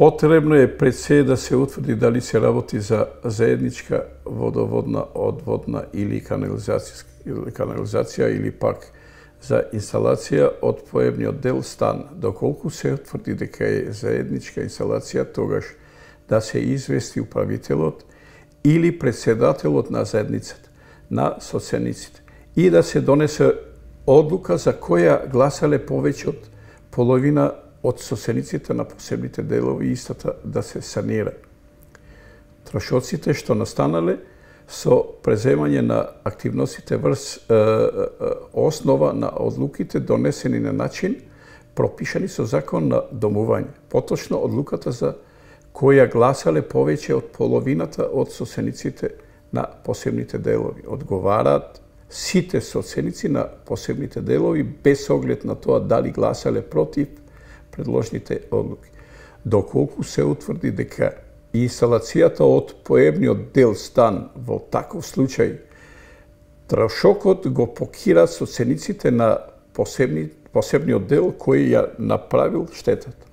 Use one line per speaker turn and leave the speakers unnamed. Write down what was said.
Потребно е пред се да се утврди дали се работи за заедничка водоводна, одводна или канализација или пак за инсталација од поебниот дел стан. Доколку се утврди дека е заедничка инсталација, тогаш да се извести управителот или председателот на заедницата, на соцениците, и да се донесе одлука за која гласале повеќе од половина од соцениците на посебните делови, истата да се санира. Трошоците што настанале со преземање на активностите врз основа на одлуките донесени на начин пропишани со закон на домување. Поточно одлуката за која гласале повеќе од половината од соцениците на посебните делови. Одговараат сите соценици на посебните делови без оглед на тоа дали гласале против предложените одлуки. Доколку се утврди дека инсталацијата од поебниот дел стан во таков случај трошокот го покира соцениците на посебниот дел кој ја направил штетата.